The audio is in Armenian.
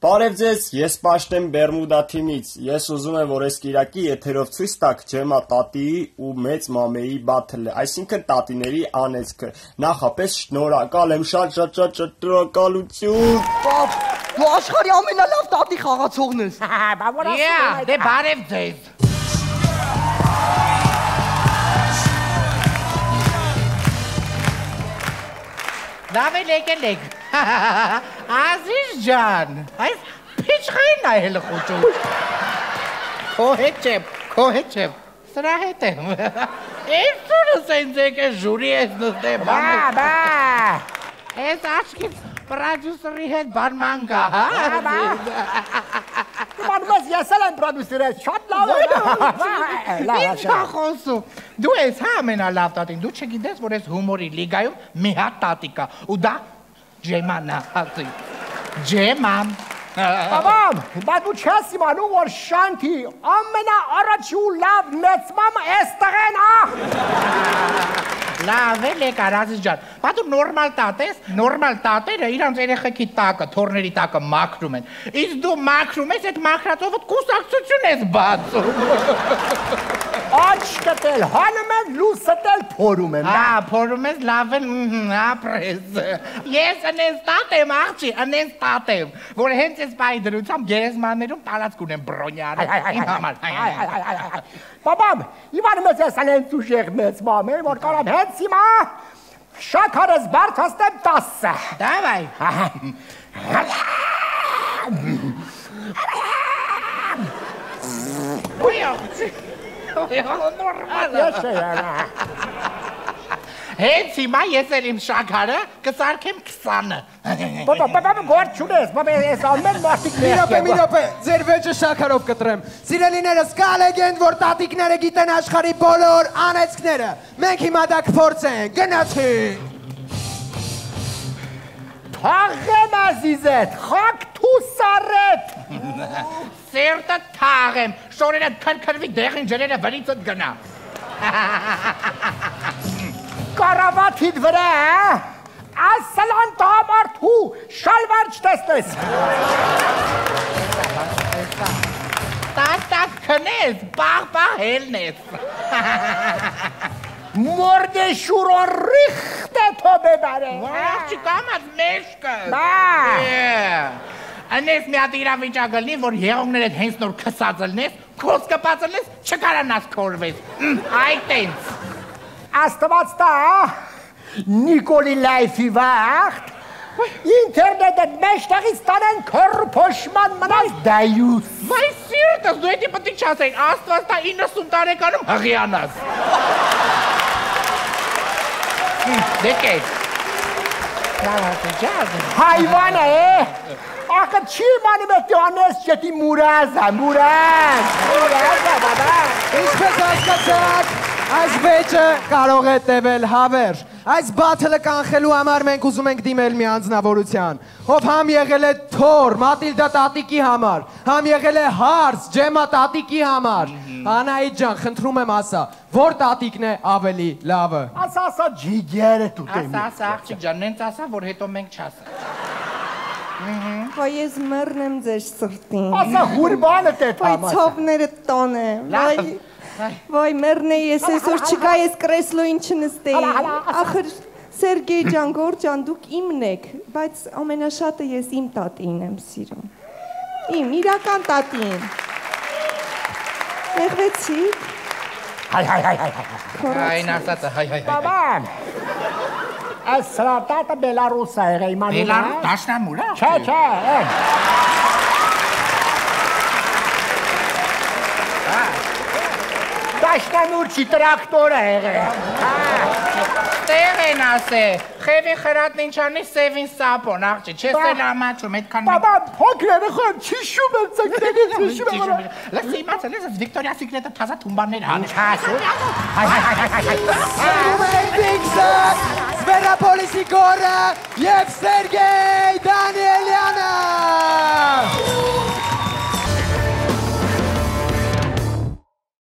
Բարև ձեզ, ես Պաշտեմ Բերմուդա թիմից, ես ուզում եմ, որ այս կիրակի եթերով ցույց տաք Ջեմա տատիի ու մեծ մամեի բաթլը, այսինքն տատիների անեծքը, նախապես շնորհակալ եմ, շատ շնորհակալություն։ Պապ, դու աշխարհի ամենալավ տատի խաղացողն ես։ Բա որ ասում եմ, դե բարև ձեզ։ Լավ եկեք։ Ազիզ ջան, այս փիչխային այլ խոճում։ Քո հետ չեմ, սրա հետ եմ։ Էսուրս ինձ է ժուրի ես նստեմ։ Բա։ Այս աչքից պրոդյուսերի հետ բանման կա, հա։ Մանուես ես էլ եմ պրոդյուսերը, շատ լավ է։ Ինչ կա խոսում։ Դու ես հա ամենալավ տատին, դու չգիտես, որ ես հումորի լիգայում մի հատ տատի կա, ու դա Ջեման է, ասի։ Ջեման։ Բաբամ, բա դու չես իմանում, որ Շանթի ամենաառաջի ու լավ մեծ մամը էս տղեն, Լավ էլ եկար, Ազիզ ջան, բա դու նորմալ տատ ես, նորմալ տատերը իրանց երեխեքի տակը, թորների տակը մաքրում են, իսկ դու մաքրում ես, այդ մաքրածովդ կուսակցություն ես բացում։ Աչքդ էլ հանում են, լուսդ էլ փորում եմ։ Փորում ես, լավ էլ ապրես։ Ես ընես տատ եմ, աղջի, ընես տատ եմ, որ հենց ես բայի դրությամբ գերեզմաններում տարածք ունեմ բրոնյանը, իմ համար։ Բաբամ, իմանում ես ես անենց ուժեղ մեծ մամ է, որ կարամ հենց հիմա շաքարս բարձրացնեմ 10։ Դավայ։ Հենց հիմա ես էլ իմ շաքարը կսարքեմ 20-ը։ Բաբա գործ չունես, բաբա ես ամեն մարդիկ մի րոպե, ձեր վեճը շաքարով կտրեմ։ Սիրելիներս, կա լեգենդ, որ տատիկները գիտեն աշխարհի բոլոր անեծքները։ Մենք հիմա դա կփորձենք, գնացինք։ Թաղեմ ազիզետ, խակ թու սարետ։ Սերտը թաղեմ, շորերը քրքրվի դեղին ջրերը վրիցդ գնա։ Կարավաթիդ վրա, ասլան տամարդու, շալվար չտեսնես։ Տակ քնես, պաղ հելնես։ Մորդե շուրոն ռիխտ է թո բեբարե։ Չկամած մեշկը։ Բա։ Անես մի հատ իրավիճակ ելնի, որ եղողներդ հենց նոր քսած ելնես, քոս կպած ելնես, չկարանաս քորվես։ Այդ տենց։ Աստված տա, Նիկոլի լայֆի վաղթ, ինտերնետը մեջտեղից տանեն քոր փոշման մնաս դայուս։ Վայ սիրտս, դու էդի պտի չասեին, Աստված տա 90 տարեկանում հղիանաս։ Դեկեք։ Հայվան է, ախը չի մանում էտ անես չետի մուրազա, մուրազ, բաբա։ Ինչպես հասկացաք, այս վեճը կարող է տևել հավերժ։ Այս բաթլը կանխելու համար մենք ուզում ենք դիմել մի անձնավորության, ով համ եղել է թոր, Մատիլդա տատիկի համար, համ եղել է հարց, Ջեմա տատիկի համար։ Անահիտ ջան, խնդրում եմ ասա, որ տատիկն է ավելի լավը։ Ասա ջիգերը տուտեմ։ Ասա, աղջիկ ջան, նենց ասա, որ հետո մենք չասա։ Վայ ես մեռն եմ ձեր սրտին։ Ասա հուրբանը տետ Վայ ցավները տան եմ։ Վայ մեռն է ես այսօր չգա ես կրեսլոին չնստեի։ Ախր Սերգեյ ջան, Գոր ջան, դուք իմն եք, բայց ամենաշատը ես իմ տատին եմ սիրում։ Իմ իրական տատին։ Եղվեցիք։ Այն ասածը, հայ։ Բաբան, այս սրատատը Բելարուս է եղել իմանու։ Բելարուս, դաշնամուր է։ Չէ, Դաշնամուր չի տրակտոր է եղել։ Տեղ են ասե, խևի խրատն ինչ անի սևին սապոն, աղջի, չես էլ ամաչում, այդքան մենք։ Բաբա, փոքր է խոն, չի շում եմ ծնկտենից, շում եմ։ Լսի իմացել ես, Վիկտորիա Սիկրետը թազա թումբաններ հան։ Սվերապոլիսի Գորը և Սերգեյ Դանիելյանը։